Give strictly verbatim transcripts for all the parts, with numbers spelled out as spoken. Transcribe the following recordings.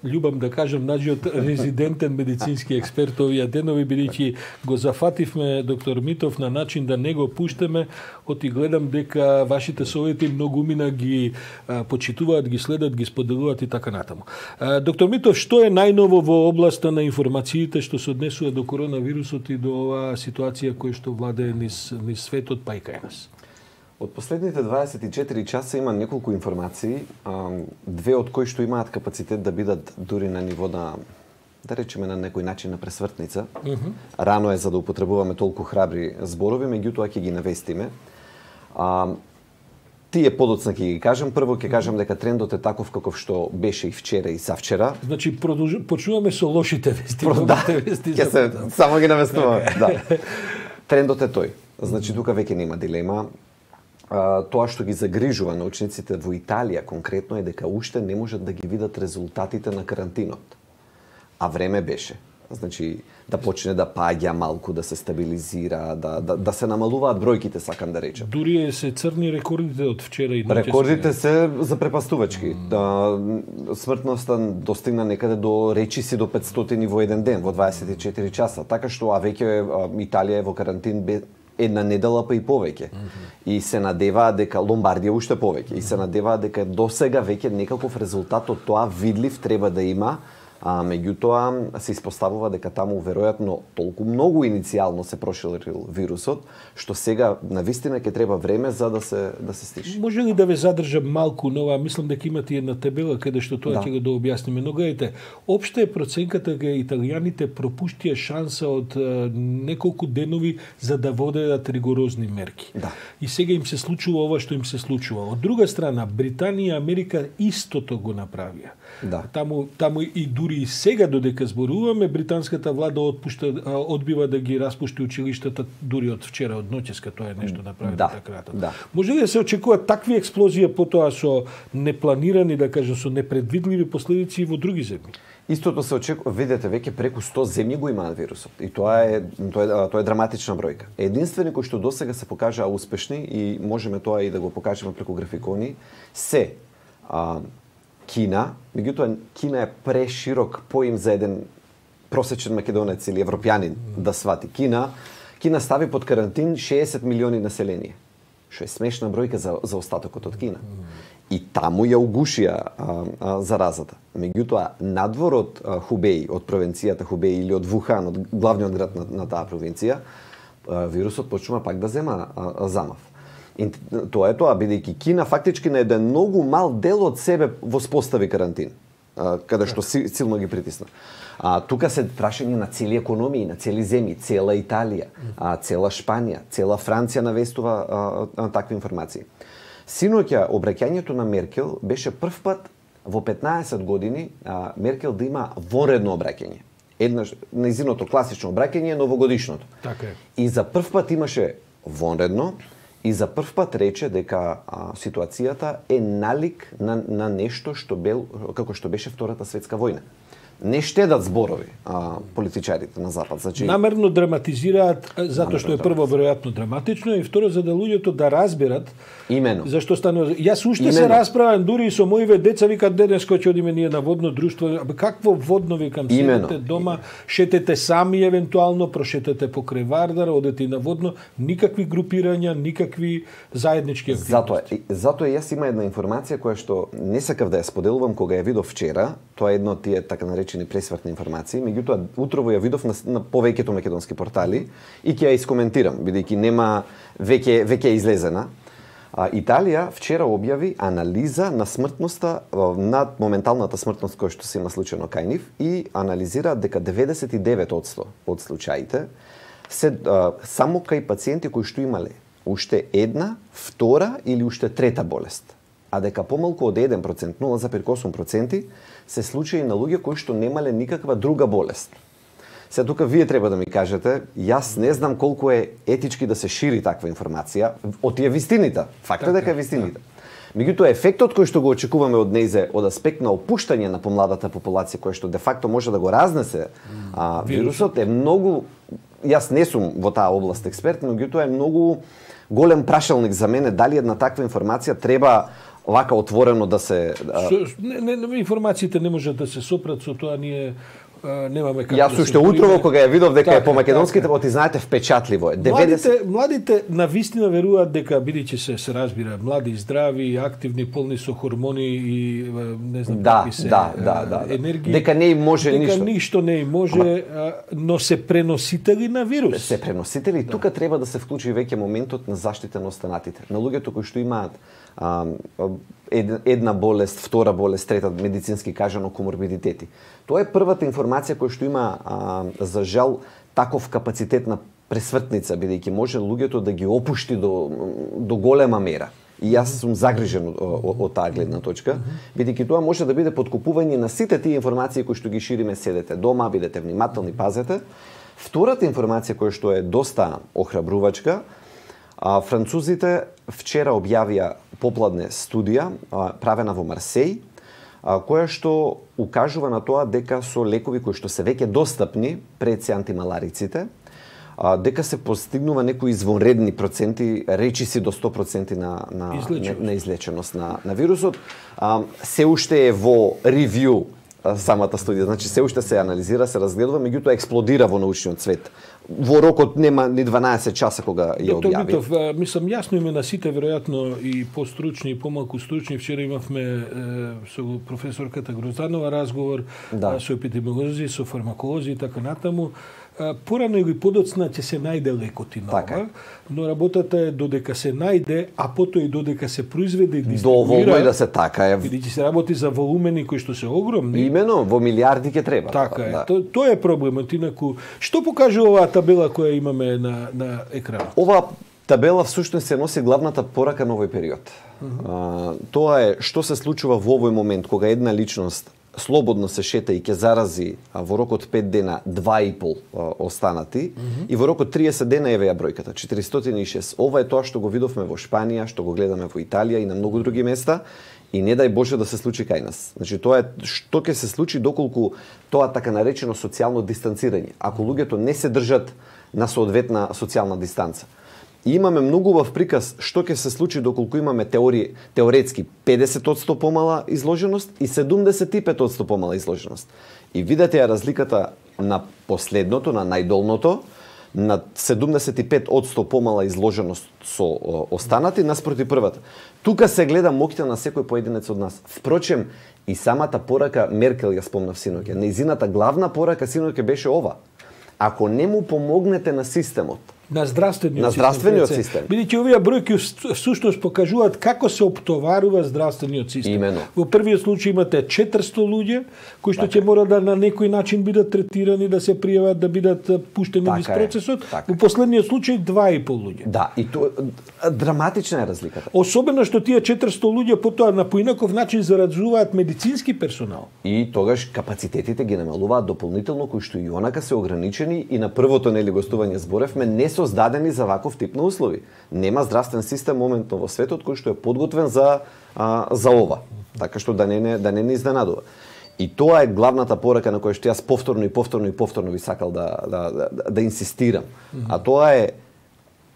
љубам да кажам, наđиот резидентен медицински експерт овие денови, бидејќи го зафативме доктор Митов на начин да не го пуштеме, оти гледам дека вашите совети многумина ги а, почитуваат, ги следат, ги споделуваат и така натаму. А, доктор Митов, што е најново во областа на информациите што се однесува до коронавирусот и до оваа ситуација која што владее низ, низ светот, па и кај нас? Од последните дваесет и четири часа има неколку информации, две од кои што имаат капацитет да бидат дури на ниво на, да речеме на некој начин на пресвртница. Uh -huh. Рано е за да употребуваме толку храбри зборови, меѓутоа ќе ги навестиме. А, тие подоцна ќе ги кажам. Прво ќе кажам дека трендот е таков каков што беше и вчера и завчера. Значи продолж... почнуваме со лошите вести. Про, да, вести ќе се само ги навестуваме. Да. Трендот е тој. Значи тука веќе нема дилема. Uh, тоа што ги загрижува научниците во Италија конкретно е дека уште не можат да ги видат резултатите на карантинот. А време беше. Значи да почне да паѓа малку, да се стабилизира, да, да, да се намалуваат бројките, сакам да речем. Дури се црни рекордите од вчера и ноќе. Рекордите се запрепастувачки. Mm. Да, смртноста достигна некаде до речиси до петстотини во еден ден, во дваесет и четири часа. Така што а веќе Италија е во карантин бе една недела па и повеќе. Mm -hmm. И се надеваа дека Ломбардија уште повеќе. И се надеваа дека досега веќе некаков резултат од тоа видлив треба да има, а меѓутоа се испоставува дека таму веројатно толку многу иницијално се проширил вирусот, што сега навистина ќе треба време за да се да се стиши. Може ли да ве задржам малку нова, мислам дека имате една табела каде што тоа ќе да. го дообјасниме, но гледате, општа е проценката дека италијаните пропуштија шанса од а, неколку денови за да водат ригорозни мерки. Да. И сега им се случува ова што им се случува. Од друга страна, Британија и Америка истото го направија. Да. Таму таму и дури и сега додека зборуваме, британската влада отпушта, одбива да ги распушти училиштата дури од вчера, од ноќеска, тоа е нешто направено да, така. Да. Може ли да се очекуваат такви експлозии потоа со непланирани, да кажам, со непредвидливи последици во други земји? Истото се очекува, видете, веќе преку сто земји го имаат вирусот. И тоа е тоа е, тоа е драматична бројка. Единствени кои што досега се покажаа успешни и можеме тоа и да го покажеме преку графикони, се а, Кина, меѓутоа Кина е преширок поим за еден просечен македонец или европјанин да свати. Кина, Кина стави под карантин шеесет милиони население, што е смешна бројка за, за остатокот од Кина. И таму ја угушија а, а, заразата. Меѓутоа, надвор од а, Хубеј, од провинцијата Хубеј или од Вухан, од главниот град на, на таа провинција, а, вирусот почнува пак да зема а, а, замав. И тоа е тоа, бидејќи Кина фактички на еден многу мал дел од себе воспостави карантин, а, каде што силно ги притисна. А тука се прашање на цели економии, на цели земји, цела Италија, а, цела Шпанија, цела Франција навестува а, а, такви информации. Синоќа обраќањето на Меркел беше прв пат во петнаесет години а, Меркел да има вонредно обраќање. Еднаш нејзиното класично обраќање е новогодишното. Така е. И за прв пат имаше вонредно и за прв пат рече дека а, ситуацијата е налик на, на нешто што бел како што беше Втората светска војна. Не штедат зборови а, политичарите на Запад. Значи, намерно драматизираат затоа што е прво веројатно драматично и второ за да луѓето да разберат имено зашто станува. Јас уште се расправам дури и со моиве деца, викаат денеска ќе одиме ние на водно друштво. Абе какво водно, викам, седете дома, шетете сами евентуално, прошетете покрај Вардар, одете и на водно, никакви групирања, никакви заеднички активности. Затоа затоа јас има една информација која што не сакав да ја споделувам кога ја видов вчера. Тоа е едно од тие така наречени пресвртни информации, меѓутоа утрово ја видов на, на повеќето македонски портали и ќе ја искоментирам, бидејќи нема веќе веќе е излезена. А, Италија вчера објави анализа на смртноста над моменталната смртност која што се има случајно кај нив и анализира дека деветдесет и девет одсто од случаите се а, само кај пациенти кои што имале уште една, втора или уште трета болест, а дека помалку од еден процент, нула зарез осум проценти, се случаи на луѓе кои што немале никаква друга болест. Се тука вие треба да ми кажете, јас не знам колку е етички да се шири таква информација од тие вистините. Факт е дека е вистините. Меѓутоа ефектот кој што го очекуваме од нејзе од аспект на опуштање на помладата популација која што де факто може да го разнесе а, вирусот е многу, јас не сум во таа област експерт, меѓутоа е многу голем прашалник за мене дали една таква информација треба вака отворено да се Со, не, не, не, информациите не можат да се сопрат со тоа, ние немаме како Јас да уште утрово кога ја видов дека така, е по македонските, оти знаете впечатливо е. деветдесет Младите, младите на вистина веруваат дека бидејќи се се разбира, млади, здрави, активни, полни со хормони и не знам да, какви се да, да, да, енергии. Дека не им може дека ништо. ништо не им може, Ама... но се преносители на вирус. Се преносители, да. Тука треба да се вклучи веќе моментот на заштита на останатите. На луѓето кои што имаат а, една болест, втора болест, трета медицински кажано коморбидитети. Тоа е првата информација која што има а, за жал таков капацитет на пресвртница, бидејќи може луѓето да ги опушти до до голема мера. И јас сум загрижен од таа гледна точка, бидејќи тоа може да биде подкупување на сите тие информации кои што ги шириме, седете дома, бидете внимателни, пазете. Втората информација која што е доста охрабрувачка, а, французите вчера објавија попладне студија а, правена во Марсеј, а, која што укажува на тоа дека со лекови кои што се веќе достапни пред се антималариците, а, дека се постигнува некои извонредни проценти, речиси до сто проценти на на излеченост на, на, излеченост на, на вирусот. А, се уште е во ревју самата студија, значи се уште се анализира, се разгледува, меѓутоа експлодира во научниот свет. Во рокот нема ни дванаесет часа кога ја објави. Доктор Митов, мислам јасно име на сите, веројатно и постручни и помалку стручни. Вчера имавме е, со професорката Грозданова разговор, да. со епидемиолози, со фармаколози и така натаму. Порано или подоцна ќе се најде лекот и нова, така. Но работата е додека се најде, а потоа и додека се произведе и дистрибуира. Доволно е да се така е. Бидејќи се работи за волумени кои што се огромни. Имено, во милиарди ќе треба. Така е. Да. То, тоа е проблемот. Инаку, што покажува оваа табела која имаме на, на екранот? Ова табела всушност се носи главната порака на овој период. Uh -huh. а, тоа е што се случува во овој момент кога една личност слободно се шета и ќе зарази а, во рокот пет дена два и пол а, останати mm -hmm. и во рокот триесет дена еве ја бројката четиристотини и шест. Ова е тоа што го видовме во Шпанија, што го гледаме во Италија и на многу други места и не дај Боже да се случи кај нас. Значи тоа е што ќе се случи доколку тоа така наречено социјално дистанцирање. Ако луѓето не се држат на соодветна социјална дистанца. И имаме многу убав приказ што ќе се случи доколку имаме теории, теоретски педесет одсто помала изложеност и седумдесет и пет одсто помала изложеност. И видете ја разликата на последното, на најдолното, на седумдесет и пет одсто помала изложеност со останати наспроти првата. Тука се гледа моќта на секој поединец од нас. Впрочем, и самата порака Меркел ја спомнав синоќа. Нејзината главна порака синоќа беше ова. Ако не му помогнете на системот, на здравствениот, на здравствениот систем, систем. Бидејќи овие бројки всушност покажуваат како се оптоварува здравствениот систем. Имено. Во првиот случај имате четиристо луѓе кои што ќе мора да на некој начин бидат третирани, да се пријават, да бидат пуштени низ процесот. Во последниот случај два и пол луѓе. Да, и тоа драматична е разликата. Особено што тие четиристо луѓе потоа на поинаков начин зараđуваат медицински персонал. И тогаш капацитетите ги намалуваат дополнително, кои што и онака се ограничени и на првото нели гостување зборевме не создадени за ваков тип на услови. Нема здравствен систем моментно во светот кој што е подготвен за а, за ова. Така што да не да не ни изненадува. И тоа е главната порака на која што јас повторно и повторно и повторно би сакал да да да, да инсистирам. Mm-hmm. А тоа е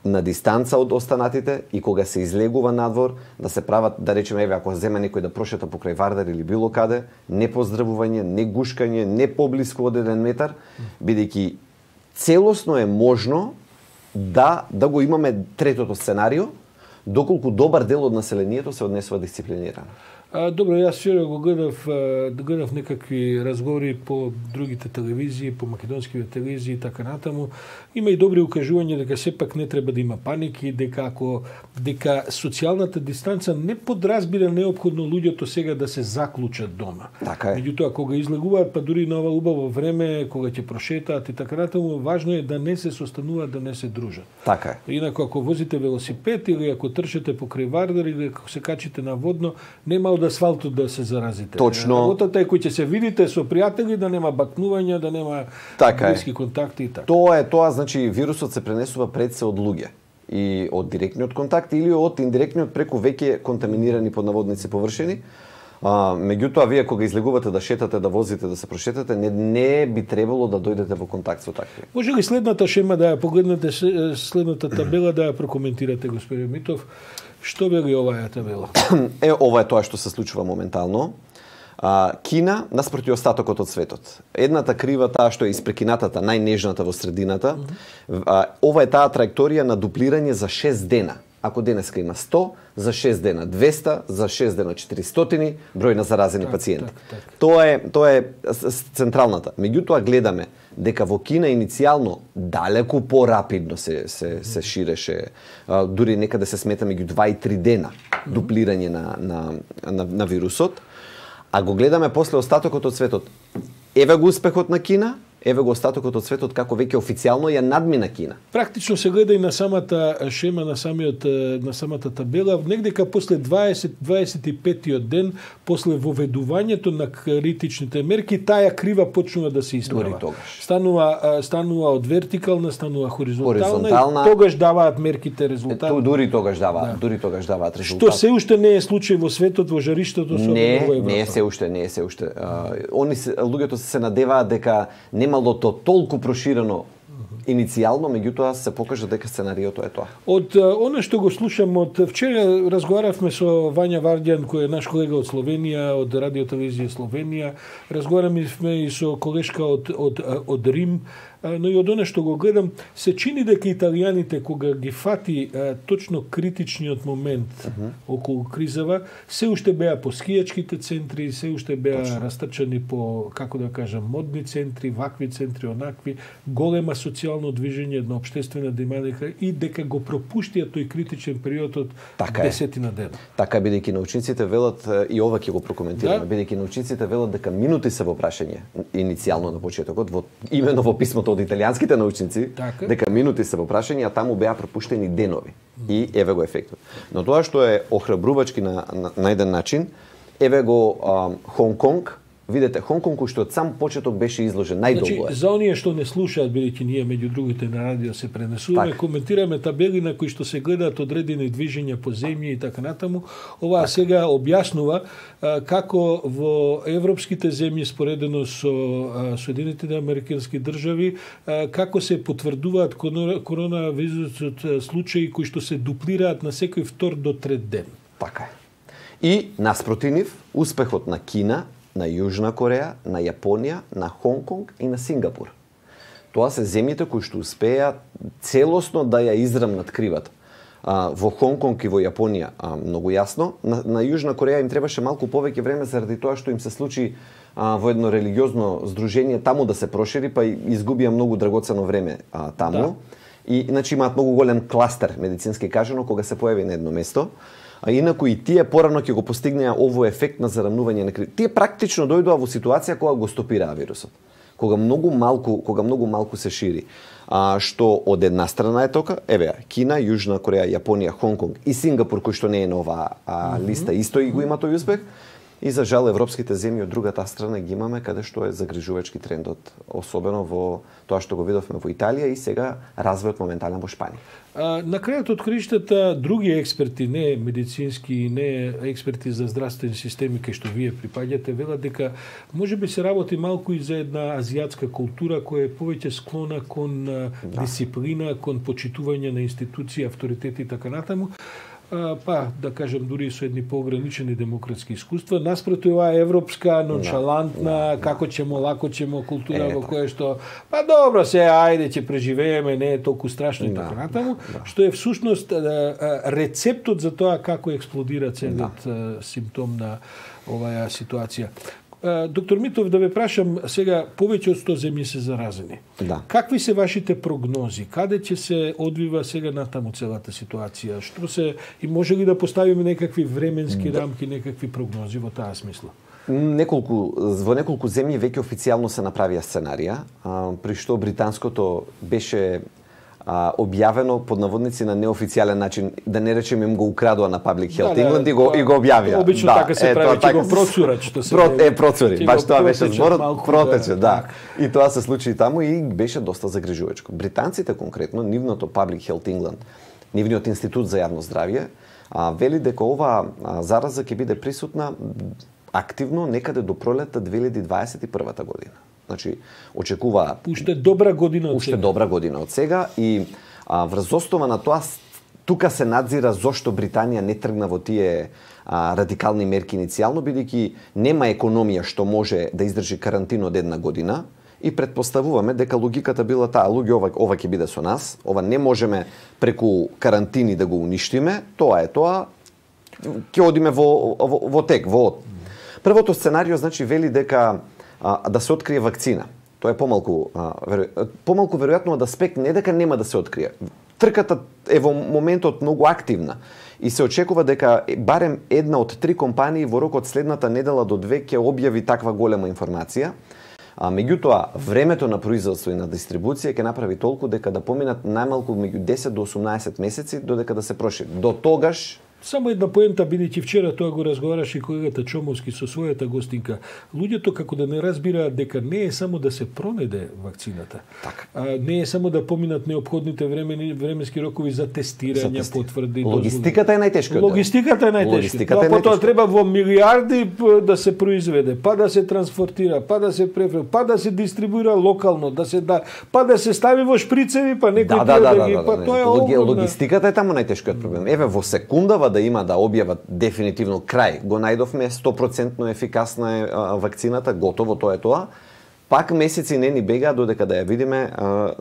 на дистанца од останатите и кога се излегува надвор да се прават, да речеме, еве ако земе некој да прошета покрај Вардар или било каде, не поздравување, не гушкање, не поблиску од еден метар, бидејќи целосно е можно да да го имаме третото сценарио, доколку добар дел од населението се однесува дисциплинирано. А, добро, јас вчера го гледав, гледав некакви разговори по другите телевизии, по македонските телевизии и така натаму. Има и добри укажувања дека сепак не треба да има паники, дека ако дека социјалната дистанца не подразбира неопходно луѓето сега да се заклучат дома. Така е. Меѓутоа кога излегуваат, па дури на ова убаво време, кога ќе прошетаат и така натаму, важно е да не се состануваат, да не се дружат. Така е. Инаку ако возите велосипед или ако трчате покрај Вардар или ако се качите на водно, нема од асфалтот да се заразите. Точно. Работата е кој ќе се видите со пријатели, да нема бакнувања, да нема така блиски е. контакти и така. Тоа е тоа, значи вирусот се пренесува пред се од луѓе и од директниот контакт или од индиректниот преку веќе контаминирани под наводници површини. А, меѓутоа, вие кога излегувате да шетате, да возите, да се прошетате, не, не би требало да дојдете во контакт со такви. Може ли следната шема да ја погледнете, следната табела да ја прокоментирате, господин Митов? Што вели оваа табела? Е, ова е тоа што се случува моментално. А, Кина наспроти остатокот од светот. Едната крива таа што е испрекинатата, најнежната во средината. Mm-hmm. а, ова е таа траекторија на дуплирање за шест дена. Ако денеска има сто, за шест дена двесте, за шест дена четиристотини број на заразени так, пациенти. Так, так. Тоа е тоа е централната. Меѓутоа гледаме дека во Кина иницијално далеку порапидно се се се ширеше, а, дури некаде се смета меѓу два и три дена дуплирање на на на, на вирусот. А го гледаме после остатокот од светот. Еве го успехот на Кина, еве го остатокот од светот како веќе официјално ја надмина Кина. Практично се гледа и на самата шема, на самиот на самата табела, негдека после дваесет до дваесет и петиот ден после воведувањето на критичните мерки, таа крива почнува да се исправа. Станува станува од вертикална, станува хоризонтална, хоризонтална и тогаш даваат мерките резултат. Ту дури тогаш даваат, да. дури тогаш даваат резултат. Што се уште не е случај во светот, во жариштето со не, во Европа. Не, е се уште, не е се уште. Uh, они се, луѓето се надеваат дека немало то толку проширено иницијално, меѓутоа се покажа дека сценариото е тоа. Од она што го слушам од вчера, разговаравме со Вања Вардјан, кој е наш колега од Словенија, од Радио Телевизија Словенија, разговаравме и со колешка од од од Рим, но и од она што го гледам, се чини дека италијаните кога ги фати а, точно критичниот момент uh -huh. околу кризава, се уште беа по скијачките центри, се уште беа точно растрчани по, како да кажам, модни центри, вакви центри, онакви, голема социјално движење, една општествена динамика и дека го пропуштија тој критичен период од така десетина дена. Така, бидејќи научниците велат, и ова ќе го прокоментираме, да? Бидејќи научниците велат дека минути се во прашање, иницијално на почетокот, во, имено во писмото од италијанските научници, така, дека минути се во прашање, а таму беа пропуштени денови. Mm. И еве го ефектот. Но тоа што е охрабрувачки на, на, на еден начин, еве го Хонг Конг. Видете, Хонг Конг што од сам почеток беше изложен најдолго. Значи, за оние што не слушаат, бидејќи ние меѓу другите на радио се пренесуваме, так, коментираме табели на кои што се гледаат одредени движења по земја и така натаму. Ова так сега објаснува а, како во европските земји споредено со а, Соединетите американски држави, а, како се потврдуваат коронавирусот случаи кои што се дуплираат на секој втор до трет ден. Така е. И наспроти нив, успехот на Кина, на Јужна Кореја, на Јапонија, на Хонг Конг и на Сингапур. Тоа се земјите кои што успеа целосно да ја израмнат кривата. А, во Хонг Конг и во Јапонија а, многу јасно. На, на Јужна Кореја им требаше малку повеќе време заради тоа што им се случи а, во едно религиозно здружение таму да се прошири, па изгубија многу драгоцено време а, таму. Да. И значи имаат многу голем кластер, медицински кажано, кога се појави на едно место. А инаку и тие порано ќе го постигнеа овој ефект на зарамнување на криз. Тие практично дојдоа во ситуација кога го стопираа вирусот. Кога многу малку, кога многу малку се шири. А што од една страна е тока, еве, Кина, Јужна Кореја, Јапонија, Хонг Конг и Сингапур, кој што не е на оваа а, листа, исто и го има тој успех. И за жал европските земји од другата страна ги имаме каде што е загрижувачки трендот, особено во тоа што го видовме во Италија и сега развојот моментален во Шпанија. А, на крајот од криштата други експерти, не медицински, не експерти за здравствени системи кај што вие припаѓате, велат дека можеби се работи малку и за една азијатска култура која е повеќе склона кон да. дисциплина, кон почитување на институции, авторитети и така натаму. Па, да кажем, дури со едни поограничени демократски искуства, наспроти оваа европска, ноншалантна, да, да, како ćemo, лако ćemo култура е, во која што, па добро се, ајде ќе преживееме, не е толку страшно и така натаму, да. Што е всушност рецептот за тоа како експлодира целиот да. симптом на оваа ситуација. Доктор Митов, да ве прашам сега, повеќе од сто земји се заразени. Да. Какви се вашите прогнози? Каде ќе се одвива сега натаму целата ситуација? Што се и може ли да поставиме некакви временски да. рамки, некакви прогнози во таа смисла? Неколку во неколку земји веќе официјално се направија сценарија, при што британското беше А, објавено под наводници на неофицијален начин, да не речем им го украдоа на Public Health да, England да, и го и го објавија. Обично да, така се е, прави, ќе го процурат, што се про, е процури. Баш тоа беше зборот, протече, да. И тоа се случи и таму и беше доста загрижувачко. Британците конкретно, нивното Public Health England, нивниот институт за јавно здравје, а, вели дека оваа зараза ќе биде присутна активно некаде до пролетта две илјади дваесет и прва година. Значи, очекува уште добра година од уште сега. добра година од сега и а, врз основа на тоа тука се надзира зошто Британија не тргна во тие а, радикални мерки иницијално, бидејќи нема економија што може да издржи карантин од една година и предпоставуваме дека логиката била таа, луѓе, ова, ова ќе биде со нас, ова не можеме преку карантини да го уништиме, тоа е тоа, ќе одиме во, во, во тек, во. Првото сценарио значи вели дека а, да се открие вакцина. Тоа е помалку а, веро... помалку веројатно од аспект не дека нема да се открие. Трката е во моментот многу активна и се очекува дека барем една од три компании во рокот следната недела до две ќе објави таква голема информација. А меѓутоа, времето на производство и на дистрибуција ќе направи толку дека да поминат најмалку меѓу десет до осумнаесет месеци додека да се прошири. До тогаш само една поента, бидејќи вчера тоа го разговараше и колегата Чомовски со својата гостинка. Луѓето како да не разбираат дека не е само да се пронеде вакцината. Так. А, не е само да поминат неопходните времени, временски рокови за тестирање, за потврди. Логистиката е најтешкиот. Логистиката е најтешкиот. Потоа треба во милиарди да се произведе, па да се транспортира, па да се префре, па да се дистрибуира локално, да се да, па да се стави во шприцеви, па некој да, да, да, да, ги, да, па да, тоа е Логи, огромна. Логистиката е таму најтешкиот проблем. Еве во секундава да има да објават дефинитивно крај. Го најдовме сто проценти ефикасна е а, вакцината, готово тоа е тоа. Пак месеци не ни бега додека да ја видиме а,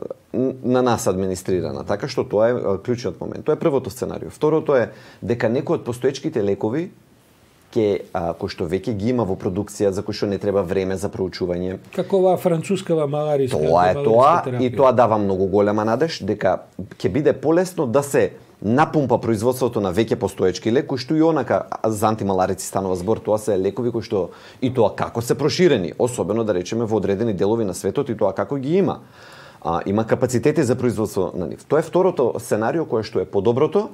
на нас администрирана. Така што тоа е а, клучниот момент. Тоа е првото сценарио. Второто е дека некои од постоечките лекови ке а, кои што веќе ги има во продукција, за кои што не треба време за проучување. Како оваа францускава малариска. Тоа е тоа терапија. И тоа дава многу голема надеж дека ќе биде полесно да се напумпа производството на веќе постоечки лек, кои што и онака за антималарици станува збор, тоа се лекови кои што и тоа како се проширени, особено да речеме во одредени делови на светот и тоа како ги има. А, има капацитети за производство на нив. Тоа е второто сценарио кое што е подоброто.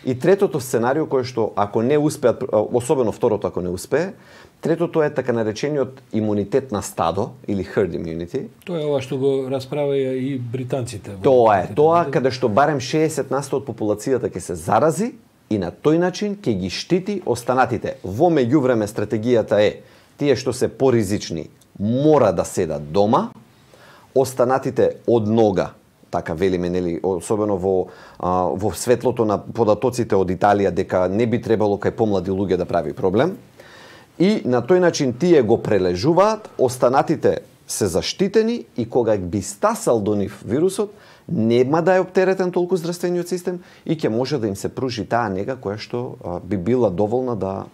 И третото сценарио кое што ако не успеат, особено второто ако не успее, третото е така наречениот имунитет на стадо или herd immunity. Тоа е ова што го расправаја и британците. Тоа е тоа каде што барем шеесет на сто од популацијата ќе се зарази и на тој начин ќе ги штити останатите. Во меѓувреме стратегијата е тие што се поризични мора да седат дома, останатите од нога, така велиме, нели, особено во а, во светлото на податоците од Италија дека не би требало кај помлади луѓе да прави проблем. И на тој начин тие го прележуваат, останатите се заштитени и кога би стасал до нив вирусот, нема да е оптеретен толку здравствениот систем и ќе може да им се пружи таа нега која што а, би била доволна да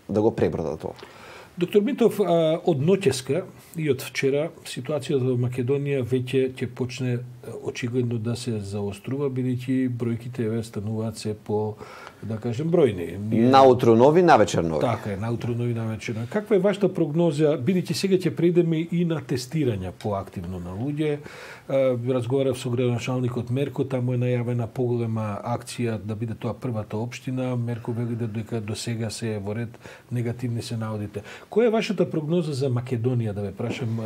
да го преброда тоа. Доктор Митов, од ноќеска и од вчера ситуацијата во Македонија веќе ќе почне очигледно да се заострува, бидејќи бројките еве стануваат се по, да кажем, бројни. Наутро нови, навечер нови. Така е, наутро нови, навечер нови. Каква е вашата прогноза, бидејќи сега ќе преидеме и на тестирање поактивно на луѓе? Разговарав со градоначалникот Мерко, таму е најавена поголема акција да биде тоа првата општина. Мерко вели дека до сега се во ред негативни се наодите. Која е вашата прогноза за Македонија, да ве прашам,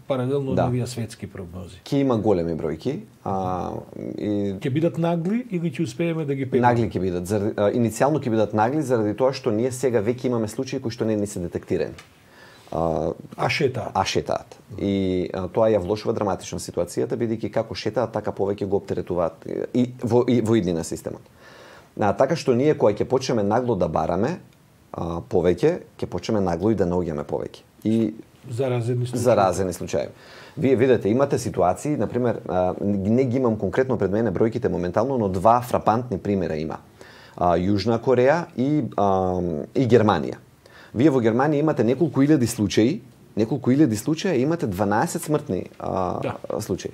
паралелно да. на овие светски прогнози? Ќе има големи бројки. А, и... Ќе бидат нагли или ќе успееме да ги пегнеме? Нагли ќе бидат. Заради, а, иницијално ќе бидат нагли заради тоа што ние сега веќе имаме случаи кои што не ни се детектирани. А, а шетаат. А шетаат. И а, тоа ја влошува драматично ситуацијата, бидејќи како шетаат, така повеќе го оптеретуваат и во, и во иднина системот. А, така што ние кога ќе почнеме нагло да бараме а, повеќе, ќе почнеме нагло и да наоѓаме повеќе. И заразени случаи. Заразени случаи. Вие видите, имате ситуации, например, а, не ги имам конкретно пред мене бројките моментално, но два фрапантни примера има. А, Јужна Кореја и, а, и Германија. Вие во Германија имате неколку илјади случаи, неколку илјади случаи, имате дванаесет смртни а, да. случаи.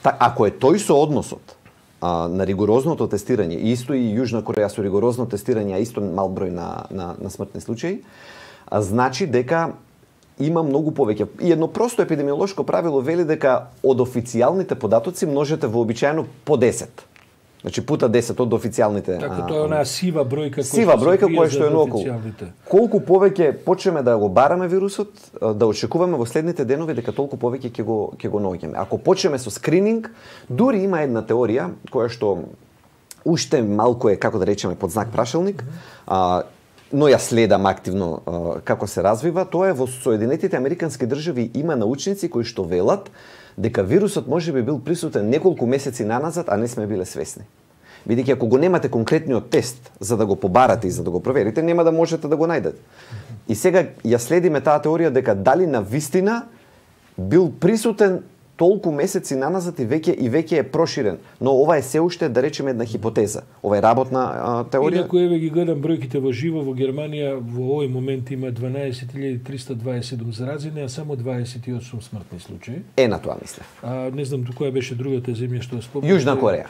Та, ако е тој соодносот а, на ригорозното тестирање, исто и Јужна Кореја со ригорозно тестирање, а исто мал број на, на, на смртни случаи, а, значи дека има многу повеќе. И едно просто епидемиолошко правило вели дека од официјалните податоци множете вообичаено по десет. Значи пута десет од официјалните. Така тоа е онаа сива бројка која сива бројка која што е наоколу. Колку повеќе почнеме да го бараме вирусот, да очекуваме во следните денови дека толку повеќе ќе го ќе го наоѓаме. Ако почнеме со скрининг, дури има една теорија која што уште малку е, како да речеме, под знак прашалник, а, но ја следам активно а, како се развива, тоа е во Соединетите Американски држави има научници кои што велат дека вирусот може би бил присутен неколку месеци наназад, а не сме биле свесни. Бидејќи ако го немате конкретниот тест за да го побарате и за да го проверите, нема да можете да го најдете. И сега ја следиме таа теорија дека дали на вистина бил присутен толку месеци наназад и веќе и веќе е проширен. Но ова е се уште, да речеме, една хипотеза. Ова е работна а, теорија. Инаку еве ги гледам бројките во живо во Германија во овој момент има дванаесет илјади триста дваесет и седум заразени, а само дваесет и осум смртни случаи. Е на тоа мислев. А не знам која беше другата земја што спомнав. Јужна Кореја.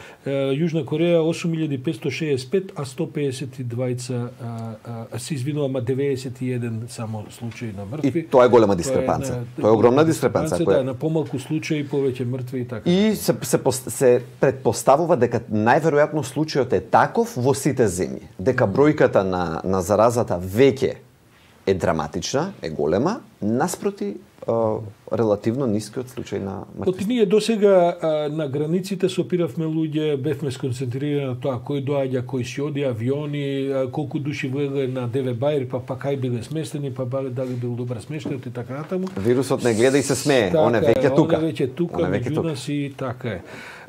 Јужна Кореја осум илјади петстотини шеесет и пет, а сто пеесет и двајца а, а, се извинувам, деветдесет и еден само случаи на мртви. И тоа е голема дискрепанца. Тоа е огромна дискрепанца. Да, на помалку случаи повеќе мртви и така. И се се, се предпоставува дека најверојатно случајот е таков во сите земји, дека бројката на на заразата веќе е драматична, е голема, наспроти а, релативно нискиот случај на мртви. Оти ние досега а, на границите се опиравме луѓе, бевме сконцентрирани на тоа кој доаѓа, кој си оди, авиони, а, колку души влегле на Деве Бајр, па па кај биле сместени, па дали бил добар смештајот и така натаму. Вирусот не гледа и се смее, така он е веќе тука. Он е веќе тука, он е веќе меѓу тука. нас и така е.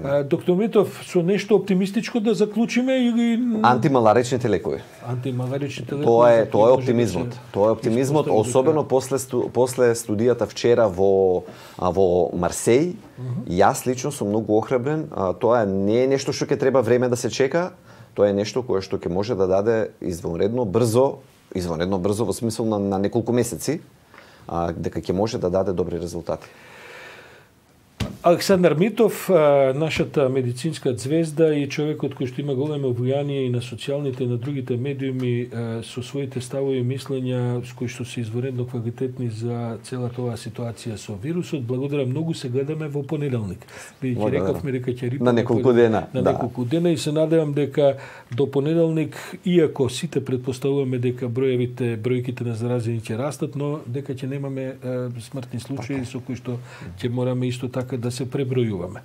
А, доктор Митов, со нешто оптимистичко да заклучиме или Антималаричните лекови. Антималаричните лекови? Тоа е тоа е оптимизмот. Тоа е оптимизмот, особено после сту, после студијата вчера во а, во Марсеј. Uh-huh. Јас лично сум многу охрабрен. А, тоа не е нешто што ќе треба време да се чека. Тоа е нешто кое што ќе може да даде извонредно брзо, извонредно брзо во смисол на, на неколку месеци, а, дека ќе може да даде добри резултати. Александар Митов, нашата медицинска звезда и човекот кој што има големо влијание и на социјалните и на другите медиуми со своите ставови и мислења кои што се изворедно квалитетни за целата оваа ситуација со вирусот. Благодарам многу, се гледаме во понеделник. Бидејќи рековме дека ќе рипаме на неколку дена. На да. неколку дена и се надевам дека до понеделник, иако сите предпоставуваме дека броевите бројките на заразени ќе растат, но дека ќе немаме смртни случаи со кои што ќе мораме исто така да се пребројуваме.